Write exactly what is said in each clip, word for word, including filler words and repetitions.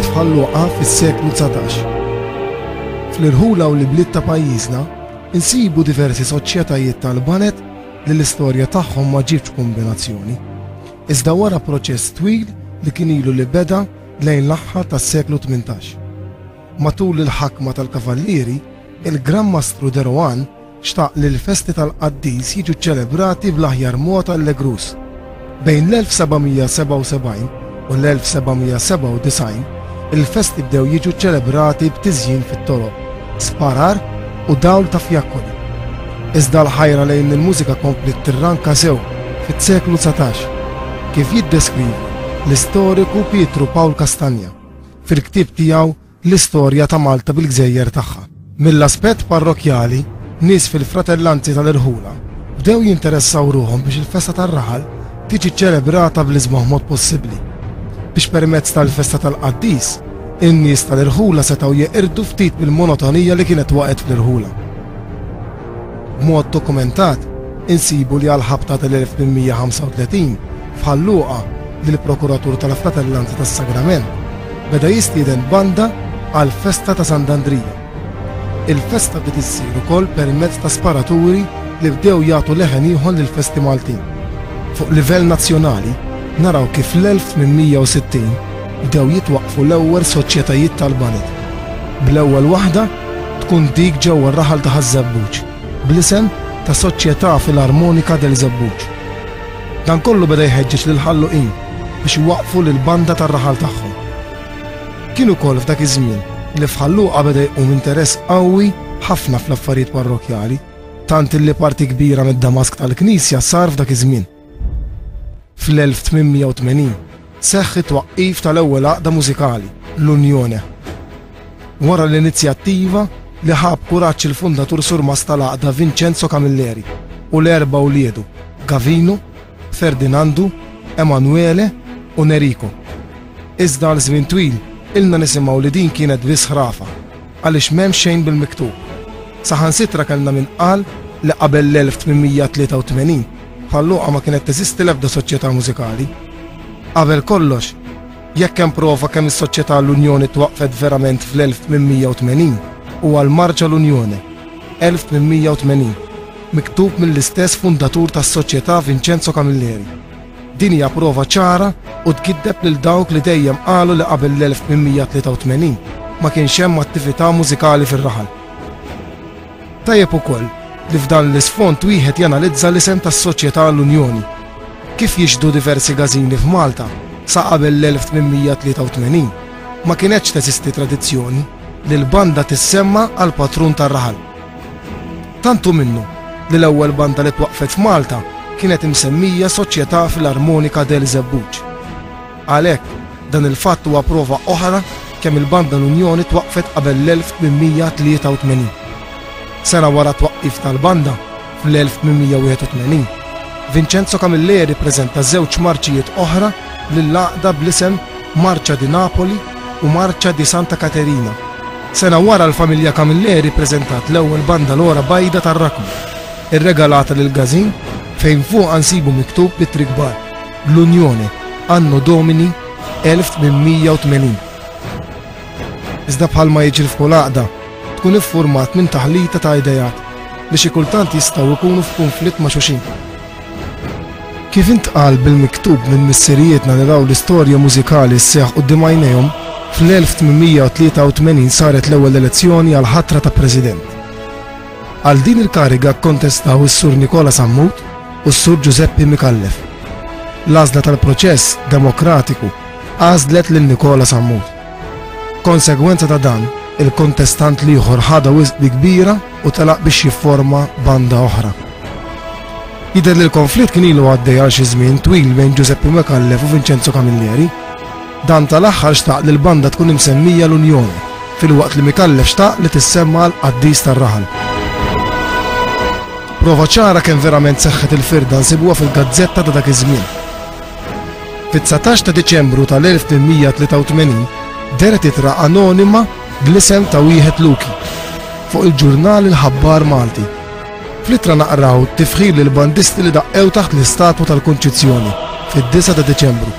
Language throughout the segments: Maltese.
bdiet f'Ħal Luqa fis-seklu dsatax. Fl-irħula u l-bliet ta' pajjiżna insibu diversi soċjetajiet tal-banet li l-istorja tagħhom ma ġietx kombinazzjoni. Iżda wara proċess twil li kien ilu li beda lejn l-aħħar tas-seklu tmintax. Matul il-ħakma tal-Kavallieri, il-Gran Mastru de Rohan xtaq li l-festi tal-qaddis jiġu ċelebrati bl-aħjar mod allegrus. Bejn l-elf seba' mija sebgħa u sebgħin u l-elf seba' mija sebgħa u disgħin, il-festi bdew jiġu ċelebrati b'tiżjin fit-toroq, sparar u dawl ta' fjakkoli. Iżda l-ħajra lejn il-mużika kompliet tirranka sew fit-seklu dsatax, kif jiddeskrivi l-istoriku Pietru Pawl Castagna fil-ktieb tiegħu L-Istorja ta' Malta bil-Gżejjer tagħha. Mill-aspett parrokjali, nies fil-fratellanzi tal-irħula bdew jinteressaw ruħhom biex il-festa tar-raħal tiġi ċelebrata bl-isbaħ mod possibbli, biex permezz tal-festa tal-qaddis, in-nies tal-irħula setgħu jeqirdu ftit mill-monotonija li kienet waqgħet fl-irħula. B'mod dokumentat, insibu li għal-ħabta tal-elf tmien mija ħamsa u tletin f'Ħal Luqa lill-prokuratur tal-Fratellanza tas-Sagrament beda jistieden banda għal-festa ta' Sant'Andrija. Il-festa bdiet issir ukoll permezz ta' sparaturi li bdew jagħtu leħen ieħor lill-festi Maltin. Fuq livell nazzjonali, naraw kif l-elf tmien mija u sittin bdew jitwaqqfu l-ewwel soċjetajiet tal-baned. Bl-ewwel waħda tkun dik ġewwa r-raħal ta' Ħaż-Żebbuġ, bl-isem ta' Soċjetà Filarmonika del Żebbuġ. Dan kollu beda jħeġġeġ lil Ħalluqin biex iwaqqfu lil banda tar-raħal tagħhom. Kien ukoll f'dak iż-żmien li f'Ħal Luqa beda jqum interess qawwi ħafna fl-affarijiet parrokjali, tant illi parti kbira mid-Damask tal-Knisja sar f'dak iż-żmien. Fl-elf tmien mija u tmenin seħħ it-twaqqif tal-ewwel għaqda mużikali, l-Unjone. Wara l-inizjattiva li ħab kuraġġ il-fundatur surmast tal-għaqda Vincenzo Camilleri u l-erba' uliedu Gavino, Ferdinandu, Emanuele u Nerico. Iżda għal żmien twil ilna nisimgħu li din kienet biss ħrafa, għaliex m'hemm xejn bil-miktub. Saħansitra kellna min qal li qabel l-elf tmien mija tlieta u tmenin Ħal Luqa ma kienet teżisti l-ebda soċjetà mużikali. Qabel kollox, jekk hemm prova kemm is-soċjetà l-Unjoni twaqqfet verament fl-elf tmien mija u tmenin huwa l-Marċa l-Unjoni, elf tmien mija u tmenin, miktub mill-istess fundatur tas-soċjetà Vincenzo Camilleri. Din hija prova ċara u tgiddeb lil dawk li dejjem qalu li qabel l-elf tmien mija tlieta u tmenin ma kienx hemm attività mużikali fir-raħal. Tajjeb ukoll li f'dan l-isfond wieħed janalizza l-isem tas-Soċjetà l-Unjoni. Kif jixhdu diversi gażini f'Malta sa qabel l-elf tmien mija tlieta u tmenin, ma kienetx teżisti tradizzjoni li l-banda tissemma għal patrun tar-raħal. Tantu minnu li l-ewwel banda li twaqqfet f'Malta kienet imsemmija Soċjetà Filarmonika del Żebbuġ. Għalhekk, dan il-fatt huwa prova oħra kemm il-banda l-Unjoni twaqqfet qabel l-elf tmien mija tlieta u tmenin. Sena wara twaqqif tal-banda, fl-elf tmien mija wieħed u tmenin, Vincenzo Camilleri preżenta żewġ marċijiet oħra lill-għaqda bl-isem Marcia di Napoli u Marcia di Santa Caterina. Sena wara l-familja Camilleri preżentat l-ewwel banda l-ora bajda tar-Rakmu, irregalata lil Gazin fejn fuqha nsibu miktub b'ittri kbar l-Unjoni Anno Domini elf tmien mija u tmenin. Iżda bħalma jiġri f'kull għaqda, tkun iffurmat minn taħlita ta' idejat li xi kultant jistgħu jkunu f'kunflitt ma' xulxin. Kif intqal bil-miktub minn missirijietna li raw l-istorja mużikali sseħħ quddiem għajnejhom, fl-elf tmien mija u tlieta u tmenin saret l-ewwel elezzjoni għal ħatra ta' President. Għal din il-kariga kkontestaw is-Sur Nikola Sammut u s-Sur Giuseppe Micallef. L-għażla tal-proċess demokratiku għażlet lil Nikola Sammut. Konsegwenza ta' dan, il-kontestant l-ieħor ħadha wisq bi kbira u telaq biex jifforma banda oħra. Jidher li l-konflitt kien ilu għaddej għal xi żmien twil bejn Giuseppe Micallef u Vincenzo Camilleri. Dan tal-aħħar xtaq li l-banda tkun imsemmija l-Unjoni, filwaqt li Micallef xtaq li tissemma l-qaddis tar-raħal. Prova ċara kemm verament seħħet il-firda nsibuha fil-gazzetta ta' dak iż-żmien. Fit-dsatax ta' Diċembru tal-elf tmien mija tlieta u tmenin dehret ittra anonima bl-isem ta' wieħed Luki fuq il-ġurnal Il-Ħabbar Malti. Fl-ittra naqraw tifħir lil bandisti li daqqew taħt l-istatwa tal-Kunċizzjoni fid-disgħa ta' Diċembru.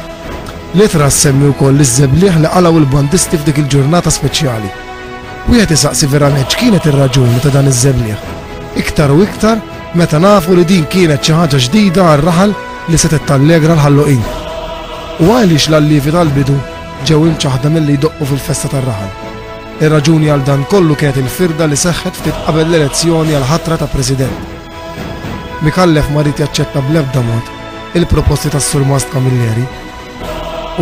L-ittra ssemmi wkoll iż-żebliħ li qalgħu l-bandisti f'dik il-ġurnata speċjali. Wieħed isaqsi verament x'kienet ir-raġuni ta' dan iż-żebliħ. Iktar u iktar meta nafu li din kienet xi ħaġa ġdida għar-raħal li setgħet tallegra l-ħalluqin. U għaliex l-allievi tal-bidu ġew imċaħda milli jdoqqu fil-festa tar-raħal. Ir-raġuni għal dan kollu kienet il-firda li seħħet ftit qabel l-elezzjoni għal ħatra ta' President. Micallef ma ried jaċċetta bl-ebda mod il-proposti tas-Surmast Camilleri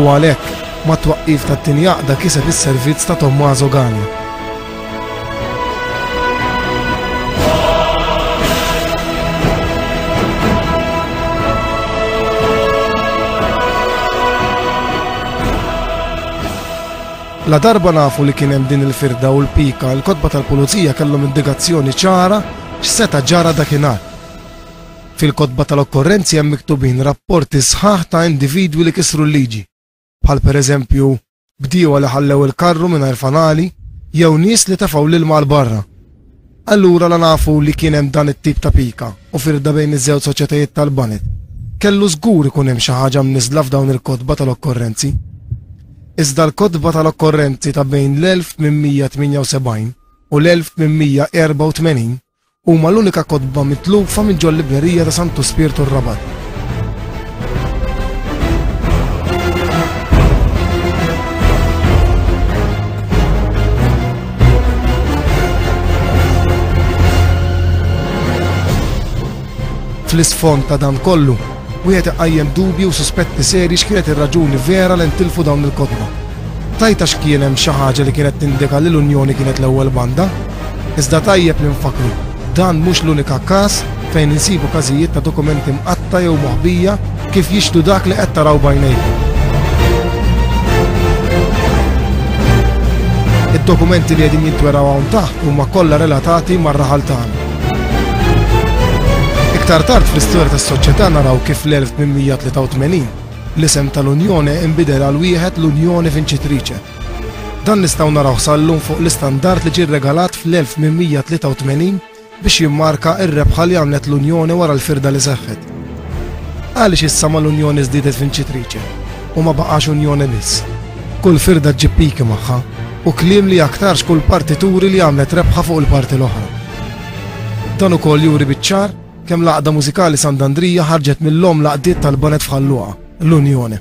u għalhekk mat-twaqqif tat-tieni għaqda kiseb is-servizz ta' Tommaso Gania. La darba nafu li kien hemm din il-firda u l-pika, il-kotba tal-pulizija kellhom indikazzjoni ċara x'seta' ġara dakinhar. Fil-kotba tal-okkorrenzi hemm miktubin rapporti sħaħ ta' individwi li kisru l-liġi, bħal pereżempju bdiewa li ħallew il-karru mingħajr fanali jew nies li tefgħu l-ilma għal barra. Allura la nafu li kien hemm dan it-tip ta' pika u firda bejn iż-żewġ soċjetajiet tal-baned. Kellu żgur ikun hemm xi ħaġa mniżla f'dawn il-kotba tal-okkorrenzi. Iżda l-kotba tal-okkorrenzi ta' bejn l-elf tmien mija tmienja u sebgħin u l-elf tmien mija erbgħa u tmenin huma l-unika kotba mitlufa minn ġol-librerija ta' Santu Spirtu r-Rabat. Fl-isfond ta' dan kollu, wieħed iqajjem dubji u suspetti seri x'kienet ir-raġuni vera li ntilfu dawn il-kotba. Tajta x'kien hemm xi ħaġa li kienet tindika li l-Unjoni kienet l-ewwel banda? Iżda tajjeb li nfakru, dan mhux l-unika każ fejn insibu każijiet ta' dokumenti mqatta jew moħbija kif jixhdu dak li qed taraw b'għajnejkom. Id-dokumenti li qegħdin jintweraw hawn taħt huma kollha relatati mar-raħal tagħna. Iktar tard fl-istorja tas-soċjetà naraw kif fl-elf tmien mija tlieta u tmenin l-isem tal-Unjoni inbidel għal wieħed l-Unjoni Vincitrice. Dan nistgħu naraw sal-lum fuq l-istandard li ġie regalat fl-elf tmien mija tlieta u tmenin biex jimmarka ir-rebħa li għamlet l-Unjoni wara l-firda li seħħet. Għaliex issa mal-Unjoni żdiedet Vincitrice u ma baqax Unjoni biss? Kull firda ġġib piki magħha u kliem li aktarx kull parti turi li għamlet rebħa fuq il-parti l-oħra. Dan ukoll juri biċ-ċar kemm l-għaqda mużikali Sant'Andrija ħarġet mill-omm l-għaqdiet tal-baned f'Ħal Luqa, l-Unjoni.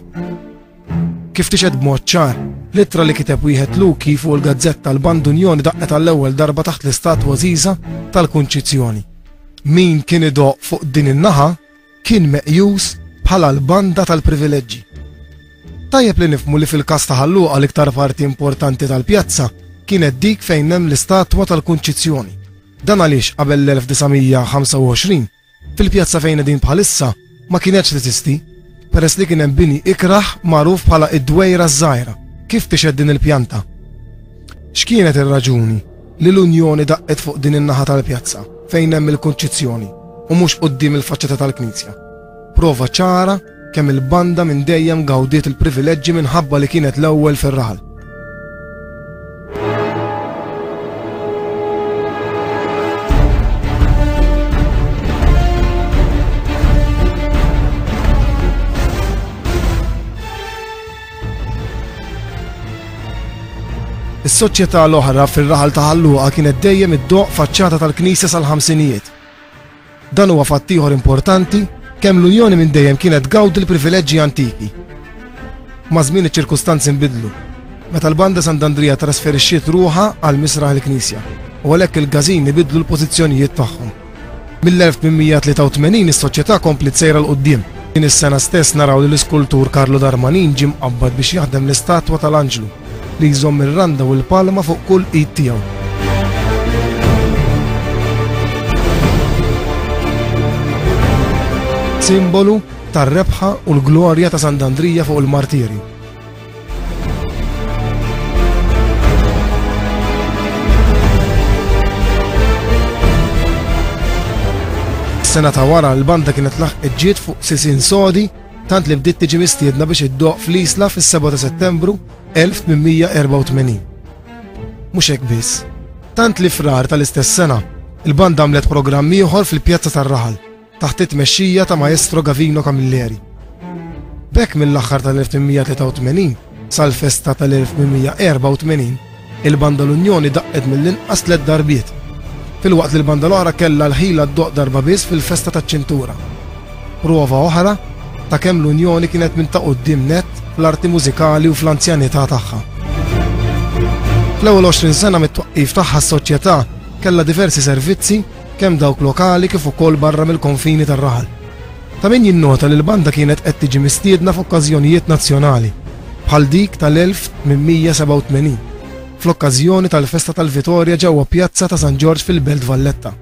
Kif tixhed b'mod ċar, l-ittra li kiteb wieħed Luki fuq il-gazzetta l-Band Unjoni daqqet għall-ewwel darba taħt l-istatwa għażiża tal-Kunċizzjoni. Min kien idoqq fuq din in-naħa kien meqjus bħala l-banda tal-privileġġi. Tajjeb li nifhmu li fil-każ ta' Ħal Luqa l-iktar parti importanti tal-pjazza kienet dik fejn hemm l-istatwa tal-Kunċizzjoni. Dan għaliex qabel l-elf disa' mija ħamsa u għoxrin fil-pjazza fejn qegħdin bħalissa ma kienx teżisti, peress li kien hemm bini ikraħ magħruf bħala id-Dwejra ż-Żgħira, kif tixhed din il-pjanta. X'kienet ir-raġuni li l-Unjoni daqqet fuq din in-naħa tal-pjazza fejn hemm il-Kunċizzjoni u mhux quddiem il-faċċata tal-Knisja? Prova ċara kemm il-banda minn dejjem gawdiet il-privileġġi minħabba li kienet l-ewwel fir-raħal. Is-soċjetà l-oħra fir-raħal ta' Ħal Luqa kienet dejjem iddoqq faċċata tal-Knisja sal-ħamsinijiet. Dan huwa fatt ieħor importanti kemm l-Unjoni minn dejjem kienet gawdi l-privileġġi antiki. Ma' żmien iċ-ċirkustanzi nbidlu. Meta l-banda Sant'Andrija trasferixxiet ruħha għal misraħ il-Knisja u għalhekk il-każini bidlu l-pożizzjonijiet tagħhom. Mill-elf tmien mija tlieta u tmenin is-soċjetà kompliet sejra 'l quddiem. Din is-sena stess naraw li l-iskultur Carlo Darmanin ġie mqabbad biex jaħdem l-istatwa tal-Anġlu li jżomm ir-randa u l-palma fuq kull id tiegħu. Simbolu tar-rebħa u l-glorja ta' Sant'Andrija fuq il-martiri. Sena ta' wara l-banda kienet laħqet ġiet fuq sisien sodi tant li bdiet tiġi mistiedna biex iddoqq fl-Isla fis-sebgħa ta' Settembru elf tmien mija erbgħa u tmenin. Mhux hekk biss, tant li frar tal-istess sena il-banda għamlet programm ieħor fil-pjazza tar-raħal taħt it-tmexxija ta' Maestro Gavino Camilleri. B'hekk mill-aħħar tal-elf tmien mija tlieta u tmenin sal-festa tal-elf tmien mija erba' u tmenin, il-banda l-Unjoni daqqet mill-inqas tliet darbiet, filwaqt li l-banda l-oħra kellha l-ħila ddoqq darba biss fil-festa taċ-ċintura. Prova oħra ta' kemm l-Unjoni kienet minn ta' quddiem nett fl-arti mużikali u fl-anzjanità tagħha. Fl-ewwel għoxrin sena mit-twaqqif tagħha s-soċjetà kellha diversi servizzi kemm dawk lokali kif ukoll barra mill-konfini tar-raħal. Ta' min jinnota li l-banda kienet qed tiġi mistiedna f'okkażjonijiet nazzjonali, bħal dik tal-elf tmien mija sebgħa u tmenin, fl-okkażjoni tal-festa tal-Vitorja ġewwa Pjazza ta' San Ġorġ fil-Belt Valletta.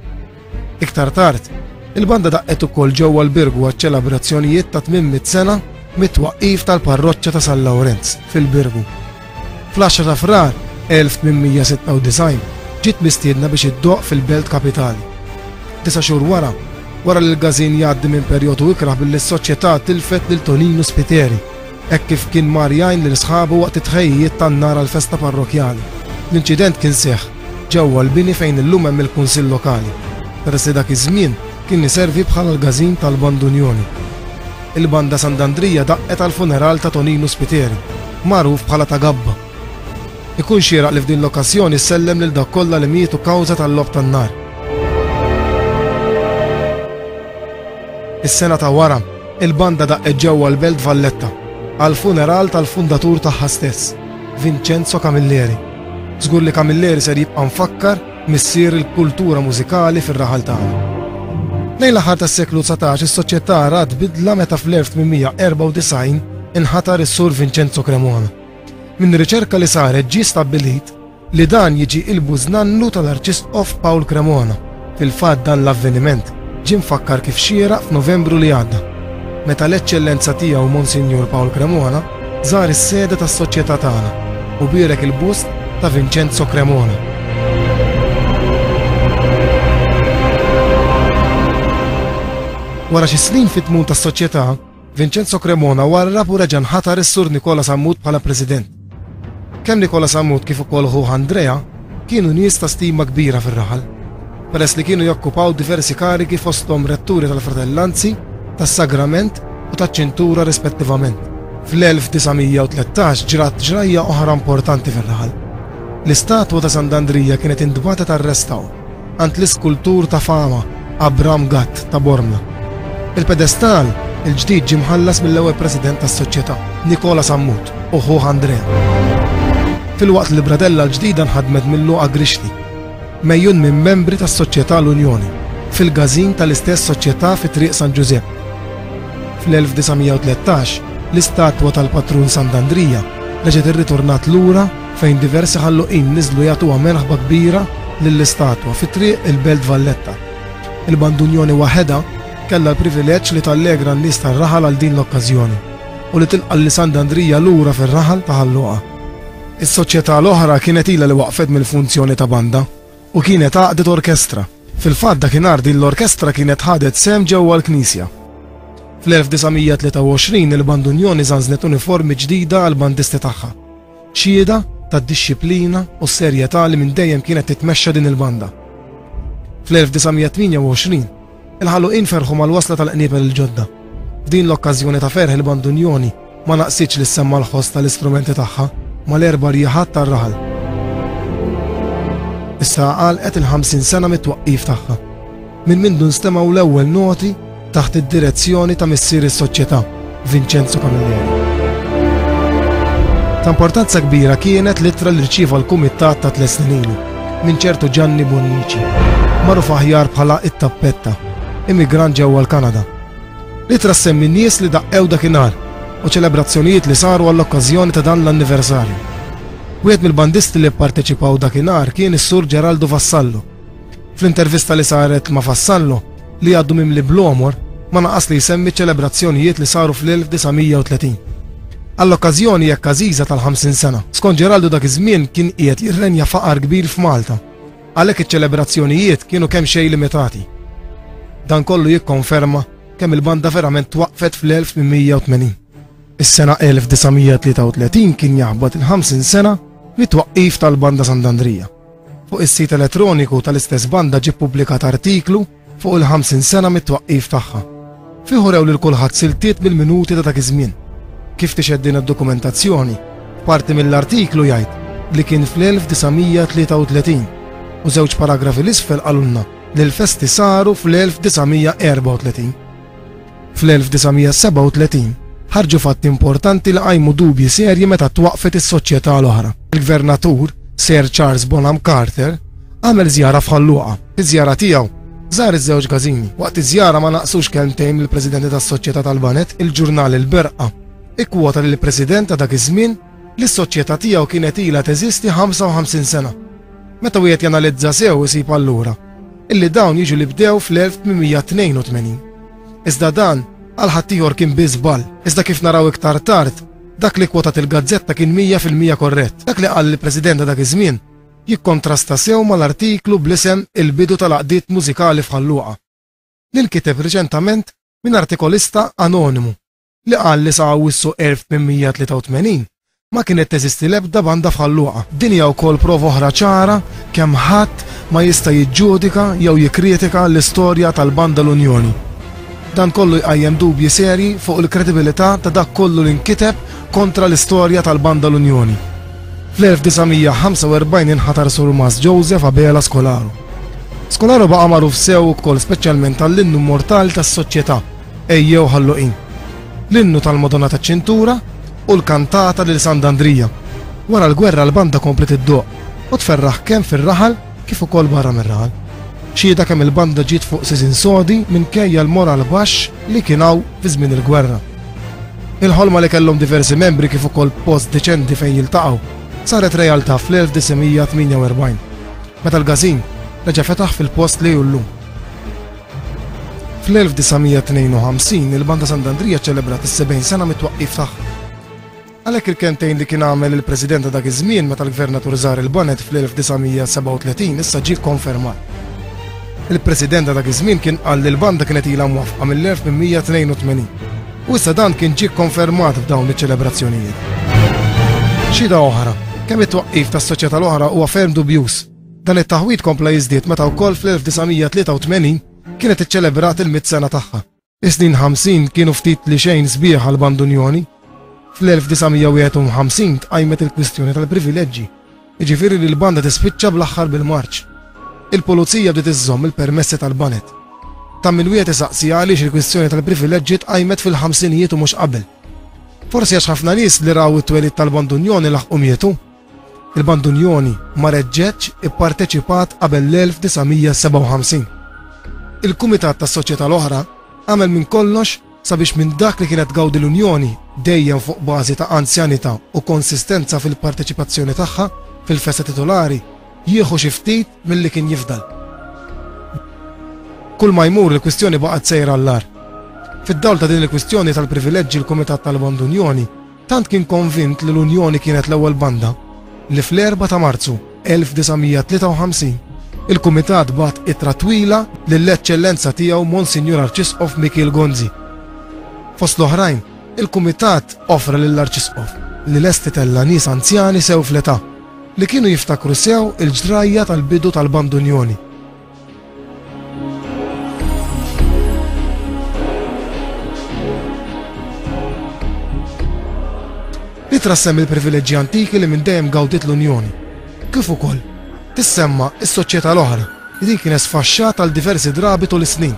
Iktar tard, il-banda daqqet ukoll ġewwa l-Birgu għaċ-ċelebrazzjonijiet ta' tmien mitt sena mit-twaqqif tal-parroċċa ta' San Lawrenz fil-Birgu. Fl-għaxra ta' Frar elf tmien mija sitta u disgħin ġiet mistiedna biex iddoqq fil-Belt Kapitali. Disa' xhur wara, wara li l-każin jgħaddi minn perjodu ikrah billi s-soċjetà tilfet lil Tonino Spiteri, hekk kif kien mar jgħin lil sħabu waqt it-tħejjijiet tan-nar għall-festa parrokjali. L-inċident kien seħħ ġewwa l-bini fejn illum hemm il-Kunsill Lokali, peress li dak iż-żmien kien iservi bħala l-każin tal-Bandunjoni. Il-banda Sant'Andrija daqqet għall-funeral ta' Tonino Spiteri, magħruf bħala ta' Gabba. Ikun xieraq li f'din l-okkażjoni ssellem lil dak kollha li mietu kawża tal-logħob tan-nar. Is-sena ta' wara, il-banda daqqet ġewwa l-Belt Valletta għall-funeral tal-fundatur tagħha stess, Vincenzo Camilleri. Żgur li Camilleri ser jibqa' mfakkar missier il-kultura mużikali fir-raħal tagħna. Lejn l-aħħar tas-seklu dsatax is-soċjetà rat bidla meta fl-elf tmien mija erba' u disgħin inħatar is-Sur Vincenzo Cremona. Minn riċerka li saret ġie stabbilit li dan jiġi il-bużnannu tal-Arċisqof Paul Cremona. Fil-fatt dan l-avveniment ġie mfakkar kif xieraq f'Novembru li għadda, meta l-Eċċellenza tiegħu Monsinjur Paul Cremona żar is-sede tas-soċjetà tagħna u bierek il-bust ta' Vincenzo Cremona. Wara xi snin fit-tmun tas-soċjetà, Vincenzo Cremona warrab u reġa' nħatar is-Sur Nikola Sammut bħala President. Kemm Nikola Sammut kif ukoll ħuh Andrea kienu nies ta' stima kbira fir-raħal, peress li kienu jokkupaw diversi karigi fosthom retturi tal-Fratellanzi, tas-Sagrament u taċ-Ċintura rispettivament. Fl-elf disa' mija u tlettax ġrat ġrajja oħra importanti fir-raħal. L-istatwa ta' Sant'Andrija kienet intbagħtet għar-restawr għand l-iskultur ta' fama Abram Gatt ta' Bormla. Il-pedestal il-ġdid ġie mħallas mill-ewwel president tas-soċjetà, Nikola Sammut, u ħuh Andrea. Filwaqt li l-bradella l-ġdida nħadmet minn Luqa Grixti, mejjun minn membri tas-Soċjetà l-Unjoni, fil-każin tal-istess soċjetà fi Triq San Ġużepp. Fl-elf disa' mija u tlettax, l-istatwa tal-patrun Sant'Andrija reġgħet irritornat lura fejn diversi ħalluqin niżlu jagħtuha merħba kbira lill-istatwa fi Triq il-Belt Valletta. Il-Bandunjoni waħedha kellha l-privileġġ li tallegra n-nies tar-raħal għal din l-okkażjoni u li tilqa' lil Sant'Andrija lura fir-raħal ta' Ħal Luqa. Is-soċjetà l-oħra kienet ilha li waqfet mill-funzjoni ta' banda u kienet għaqdet orkestra. Fil-fatt dakinhar din l-orkestra kienet ħadet sehem ġewwa l-Knisja. Fl-elf disa' mija tlieta u għoxrin il-Bandunjoni żanżnet uniformi ġdida għall-bandisti tagħha, xhieda tad-dixxiplina u s-serjetà li minn dejjem kienet titmexxa din il-banda. Fl-elf disa' mija tmienja u għoxrin, il-ħalluqin ferħu mal-wasla tal-qniepel il-ġodda. F'din l-okkażjoni ta' ferħ il-Bandunjoni ma naqsitx li ssemma l-ħoss tal-istrumenti tagħha mal-erba' rjiħat tar-raħal. Issa għalqet il-ħamsin sena mit-twaqqif tagħha, minn mindu nstemgħu l-ewwel noti taħt id-direzzjoni ta' missier is-soċjetà, Vincenzo Camilleri. Ta' importanza kbira kienet l-ittra li rċieva l-kumitat ta' tliet snin ilu minn ċertu Gianni Bonnici, magħruf aħjar bħala it-Tappetta, immigrant ġewwa l-Kanada. L-ittra ssemmi n-nies li daqqew dakinhar u ċelebrazzjonijiet li saru għall-okkażjoni ta' dan l-anniversarju. Wieħed mill-bandisti li pparteċipaw dakinhar kien is-Sur Geraldo Vassallo. Fl-intervista li saret ma' Vassallo, li għaddu mimli bl-għomor, ma naqas li jsemmi ċelebrazzjonijiet li saru fl-elf disa' mija u tletin. Għall-okkażjoni hekk għażiża tal-ħamsin sena, skont Geraldo dak iż-żmien kien qiegħed jirrenja faqar kbir f'Malta, għalhekk iċ-ċelebrazzjonijiet kienu kemm xejn limitati. Dan kollu jikkonferma kemm il-banda verament twaqfet fl-elf tmien mija u tmenin. Is-sena elf disa' mija tlieta u tletin kien jaħbat il-ħamsin sena mit-twaqqif tal-Banda Sant'Andrija. Fuq is-sit elettroniku tal-istess banda ġie ppubblikat artiklu fuq il-ħamsin sena mit-twaqqif tagħha. Fih urew lil kulħadd siltiet mill-minuti ta' dak iż-żmien. Kif tixhed din id-dokumentazzjoni, parti mill-artiklu jgħid li kien fl-elf disa' mija tlieta u tletin u żewġ paragrafi l-isfel qalulna li l-festi saru fl-elf disa' mija erba' u tletin. Fl-elf disa' mija sebgħa u tletin ħarġu fatti importanti li qajmu dubji serji meta twaqfet is-soċjetà l-oħra. Il-gvernatur Sir Charles Bonham Carter għamel żjara f'Ħal Luqa. Iż-żjara tiegħu żar iż-żewġ każini. Waqt iż-żjara ma naqsux kelmtejn mill-presidenti tas-soċjetà tal-Banet, il-ġurnal Il-Berqa ikkwota lill president ta' dak iż-żmien li s-soċjetà tiegħu kienet ilha teżisti ħamsa u ħamsin sena. Meta wieħed janalizza sew isib allura illi dawn jiġu li bdew fl-elf tmien mija tnejn u tmenin. Iżda dan għal ħaddieħor kien biss żball. Iżda kif naraw iktar tard, dak li kwotat il-gazzetta kien mija fil-mija korrett. Dak li qal il-president ta' dak iż-żmien jikkontrasta sew mal-artiklu bl-isem Il-bidu tal-għaqdiet mużikali f'Ħal Luqa, li nkiteb riċentament minn artikolista anonimu li qal li sa Awwissu elf tmien mija tlieta u tmenin ma kienet teżisti l-ebda banda f'Ħal Luqa. Din hija wkoll prova oħra ċara kemm ħadd ma jista' jiġġudika jew jikkritika l-istorja tal-banda l-Unjoni. Dan kollu jqajjem dubji serji fuq il-kredibilità ta' dak kollu li nkiteb kontra l-istorja tal-banda l-Unjoni. Fl-elf disa' mija ħamsa u erbgħin inħatar Surmas Joseph Abela Scolaro. Scolaro baqa' magħruf sew ukoll speċjalment għall-innu mortali tas-soċjetà Ejjew Ħalluqin, l-innu tal-Madonna taċ-Ċintura u l-kantata lil Sant'Andrija. Wara l-gwerra l-banda komplet iddoqq u tferraħ kemm fir-raħal kif ukoll barra mir-raħal. Xhieda kemm il-banda ġiet fuq sisien sodi minkejja l-moral baxx li kien hawn fi żmien il-gwerra. Il-ħolma li kellhom diversi membri kif ukoll post deċenti fejn jiltaqgħu saret realtà fl-elf disa' mija tmienja u erbgħin, meta l-każin reġa' fetaħ fil-post li hu llum. Fl-elf disa' mija tnejn u ħamsin il-Banda Sant'Andrija ċċelebrat is-sebgħin sena mit-twaqqif tagħha. Għalhekk il-kentejn li kien għamel il-President ta' dak iż-żmien meta l-Gvernatur żar il-Banet fl-elf disa' mija sebgħa u tletin issa ġie kkonfermat. Il-President ta' dak iż-żmien kien qal li l-banda kienet ilha mwaffqa mill-elf tmien mija tnejn u tmenin u issa dan kien ġie kkonfermat f'dawn iċ-ċelebrazzjonijiet. Xhieda oħra, kemm it-twaqqif tas-soċjetà l-oħra huwa ferm dubjuż. Dan it-taħwid kompla jiżdied meta wkoll fl-elf disa' mija tlieta u tmenin kienet iċċelebrat il-mitt sena tagħha. Is-snin ħamsin kienu ftit li xejn sbieħ għal Bandunjoni. Fl-elf disa' mija wieħed u ħamsin tqajmet il-kwistjoni tal-privileġġi, jiġifieri li l-banda tispiċċa bl-aħħar bil-marċ. Il-pulizija bdiet iżżomm il-permessi tal-banet. Ta' min wieħed isaqsi għaliex il-kwistjoni tal-privileġġi tqajmet fil-ħamsinijiet u mhux qabel. Forsi għax ħafna nies li raw it-twelid tal-Bandunjoni laħqu mietu. Il-Bandunjoni ma reġġetx ipparteċipat qabel l-elf disa' mija sebgħa u ħamsin. Il-Kumitat tas-Soċjetà l-oħra għamel minn kollox sabiex minn dak li kienet gawdi l-Unjoni dejjem fuq bażi ta' anzjanità u konsistenza fil-parteċipazzjoni tagħha fil-festa titolari jieħu xi ftit milli kien jifdal. Kull ma jmur il-kwistjoni baqgħet sejra għall-agħar. Fid-dawl ta' din il-kwistjoni tal-privileġġi l-Kumitat tal-Bandunjoni tant kien konvint li l-Unjoni kienet l-ewwel banda li fl-erba' ta' Marzu elf disa' mija tlieta u ħamsin il-Kumitat bagħat ittra twila lill-Eċċellenza tiegħu Monsinjur Arċisqof Mikiel Gonzi. Fost l-oħrajn, il-Kumitat offra lill-Arċisqof li lesti tella nies anzjani sew fl-età li kienu jiftakru sew il-ġrajja tal-bidu tal-Bandunjoni. Li trassem il-privileġġi antiki li minn dejjem gawdiet l-Unjoni, kif ukoll tissemma s-soċjetà l-oħra li din kienet sfaxxata għal diversi drabi tul is-snin.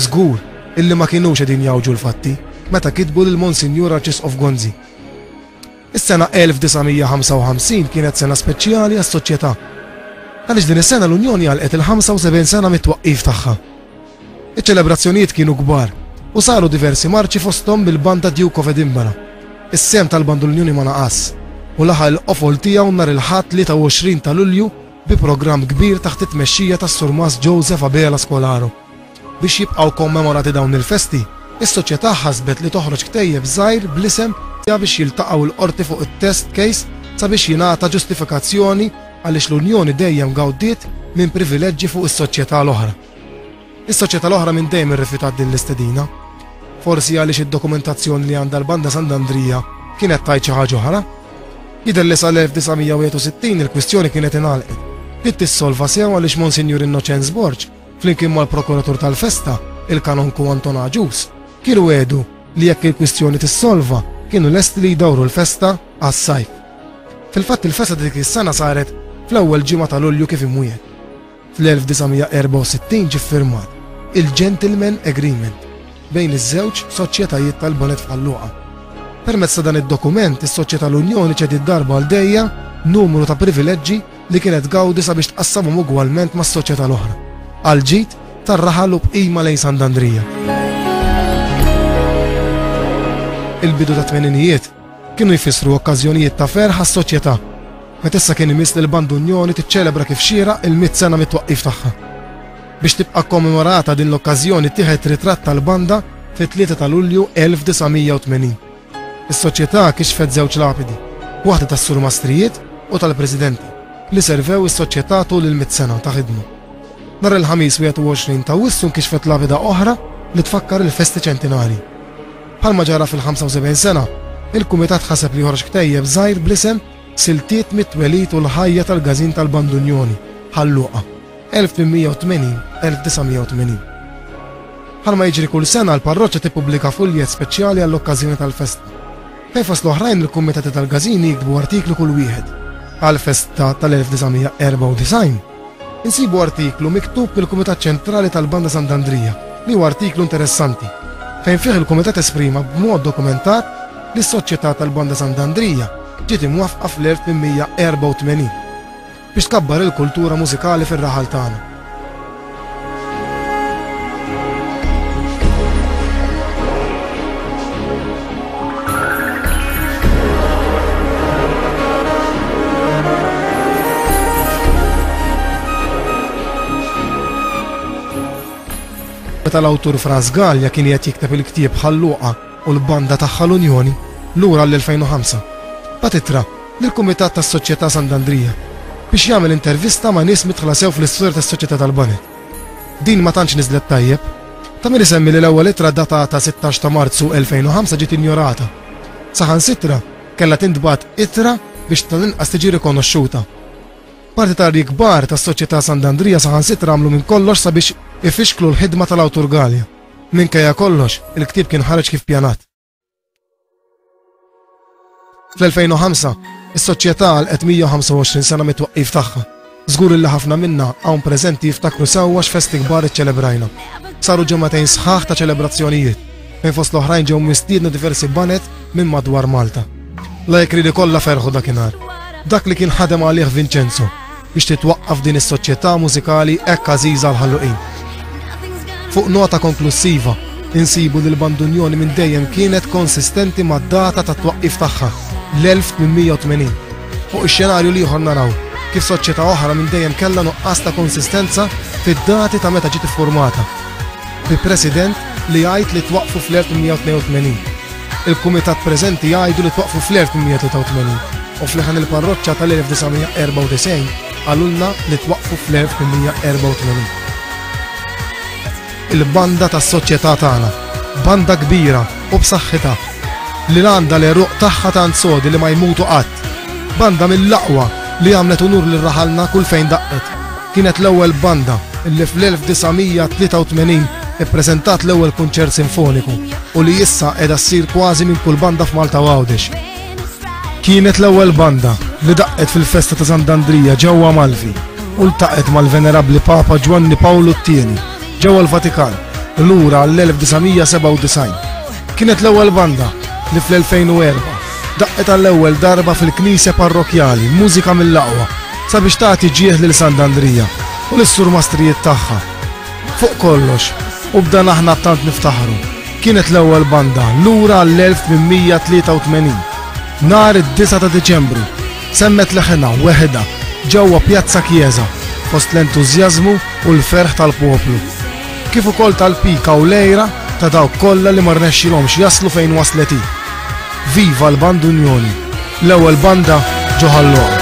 Żgur illi ma kinux qegħdin jgħawġu l-fatti meta kitbu lil Monsinjur Arċisqof Gonzi. Is-sena elf disa' mija ħamsa u ħamsin kienet sena speċjali għas-soċjetà, għaliex din is-sena l-Unjoni għalqet il-ħamsa u sebgħin sena mit-twaqqif tagħha. Iċ-ċelebrazzjonijiet kienu kbar u saru diversi marċi fosthom bil-banda Duke of Edinburgh. Is-sehem tal-Banda l-Unjoni ma naqas u laħaq il-qofol tiegħu nhar il-Ħadd tlieta u għoxrin ta' Lulju bi programm kbir taħt it-tmexxija tas-Surmas Joseph Abela Scolaro. Biex jibqgħu kommemorati dawn il-festi, is-soċjetà ħasbet li toħroġ ktejjeb żgħir bl-isem biex jiltaqgħu l-qorti fuq it-test case sabiex jingħata ġustifikazzjoni għaliex l-Unjoni dejjem gawdiet minn privileġġi fuq is-soċjetà l-oħra. Is-soċjetà l-oħra minn dejjem irrifjutat din l-istedina. Forsi għaliex id-dokumentazzjoni li għandha l-Banda Sant'Andrija kienet tgħid xi ħaġa oħra. Jidher li sal-elf disa' mija wieħed u sittin il-kwistjoni kienet ingħalqet. Bdiet tissolva sew għaliex Monsinjur Innoċenz Borg, flimkien mal-prokuratur tal-festa, il-kanonku Anton Agius, kienu għedu li jekk il-kwistjoni tissolva, kienu lesti li jdawru l-festa għas-sajf. Fil-fatt il-festa dik is-sena saret fl-ewwel ġimgħa ta' Lulju kif imwiegħed. Fl-elf disa' mija erbgħa u sittin ġie ffirmat il-Gentleman Agreement bejn iż-żewġ soċjetajiet tal-Baned f'Ħal Luqa. Permezz ta' dan id-dokument, is-Soċjetà l-Unjoni ċediet darba għal dejja numru ta' privileġġi li kienet gawdi sabiex tqassamhom ugwalment mas-soċjetà l-oħra, għal ġid tar-raħal u bqima lejn Sant'Andrija. Il-bidu ta' tmeninijiet kienu jfissru okkażjonijiet ta' ferħ għas-soċjetà, meta issa kien imiss li l-Banda Unjoni tiċċelebra kif xieraq il-mitt sena mit-twaqqif tagħha. Biex tibqa' kommemorata din l-okkażjoni tieħed ritratt tal-banda fit-tlieta ta' Lulju elf disa' mija u tmenin. Is-soċjetà kixfet żewġ lapidi, waħda tas-surmastrijiet u tal-presidenti, li servew is-soċjetà tul il-mitt sena ta' ħidma. Nhar il-Ħamis wieħed u għoxrin ta' Awwissu nkixfet lapida oħra li tfakkar il-festi ċentinari. Bħalma ġara fil-ħamsa u sebgħin sena, il-kumitat ħaseb li joħroġ ktejjeb żgħir bl-isem Siltiet mit-twelid u l-ħajja tal-Każin tal-Banda Unjoni, Ħal Luqa, elf tmien mija u tmenin, elf disa' mija u tmenin. Bħalma jiġri kull sena, l-parroċċa tippubblika fuljet speċjali għall-okkażjoni tal-festa. Fejn fost l-oħrajn il-kumitati tal-Każini jiktbu artiklu kull wieħed. Għall-festa tal-elf disa' mija erbgħa u disgħin, insibu artiklu miktub mill-Kumitat Ċentrali tal-Banda Sant'Andrija, li huwa artiklu interessanti, fejn fih il-Kumitat esprima b'mod dokumentat li s-Soċjetà tal-Banda Sant'Andrija ġiet imwaffqa fl-elf tmien mija erbgħa u tmenin biex tkabbar il-kultura mużikali fir-raħal tagħna. Meta l-awtur Frans Galea kien qed jikteb il-ktieb Ħal Luqa u l-banda tagħha l-Unjoni lura l-elfejn u ħamsa, bagħat ittra lill-Kumitat tas-Soċjetà Sant'Andrija biex jagħmel intervista ma' nies midħla sew fl-istorja tas-Soċjetà tal-Baned. Din ma tantx niżlet tajjeb. Ta' min isemmi li l-ewwel ittra datata sittax ta' Marzu elfejn u ħamsa ġiet injorata. Saħansitra kellha tintbagħat ittra biex tal-inqas tiġi rikonoxxuta. Partitarji kbar tas-Soċjetà Sant'Andrija saħansitra għamlu minn kollox sabiex ifixklu l-ħidma tal-awtur Galea. Minkejja kollox, il-ktieb kien ħareġ kif pjanat. Fl-elfejn u ħamsa, is-soċjetà għalqet mija u ħamsa u għoxrin sena mit-twaqqif tagħha. Żgur li ħafna minna hawn preżenti jiftakru sewwa x'festi kbar iċċelebrajna. Saru ġimgħatejn sħaħ ta' ċelebrazzjonijiet, fejn fost l-oħrajn ġew mistiedna diversi baned minn madwar Malta. La jekk li kollha ferħu dakinhar. Dak li kien ħadem għalih Vincenzo biex titwaqqaf din is-soċjetà mużikali hekk għażiża għal Ħal Luqin. Fuq nota konklusiva, insibu li l-Banda Unjoni minn dejjem kienet konsistenti mad-data tat-twaqqif tagħha, l-elf tmien mija u tmenin. Fuq ix-xenarju l-ieħor naraw kif soċjetà oħra minn dejjem kellha nuqqas ta' konsistenza fid-dati ta' meta ġiet iffurmata. Bi president li jgħid li twaqqfu fl-elf tmien mija u tnejn u tmenin. Il-kumitat preżenti jgħidu li twaqqfu fl-elf tmien mija tlieta u tmenin u fl-ħan il-parroċċa tal-elf disa' mija erbgħa u disgħin qalulna li twaqqfu fl-elf tmien mija erbgħa u tmenin. Il-banda tas-soċjetà tagħna, banda kbira u b'saħħitha, li għandha l-għeruq tagħha tant sodi li ma jmutu qatt. Banda mill-aqwa li għamlet unur lil raħalna kull fejn daqqet. Kienet l-ewwel banda li fl-elf disa' mija tlieta u tmenin ippreżentat l-ewwel kunċert sinfoniku u li issa qiegħda ssir kważi minn kull banda f'Malta u Għawdex. Kienet l-ewwel banda li daqqet fil-festa ta' Sant'Andrija ġewwa Malfi u ltaqgħet mal-Venerabbli Papa Ġwanni Pawlu t-tieni ġewwa l-Vatikan lura għall-elf disa' mija sebgħa u disgħin. Kienet l-ewwel banda li fl-elfejn u erba' daqqet għall-ewwel darba fil-Knisja Parrokkjali mużika mill-aqwa sabiex tagħti ġieħ lil Sant'Andrija u lis-surmastrijiet tagħha. Fuq kollox, u b'dan aħna tant niftaħru, kienet l-ewwel banda lura għall-elf tmien mija tlieta u tmenin. Nhar id-disgħa ta' Diċembru, semmet leħinha weħidha ġewwa Pjazza Chiesa fost l-entużjażmu u l-ferħ tal-poplu, kif ukoll tal-pika u l-għira ta' dawk kollha li ma rnexxilhomx jaslu fejn waslet hi. Viva l-Banda Unjoni, l-ewwel banda ġo Ħal Luqa.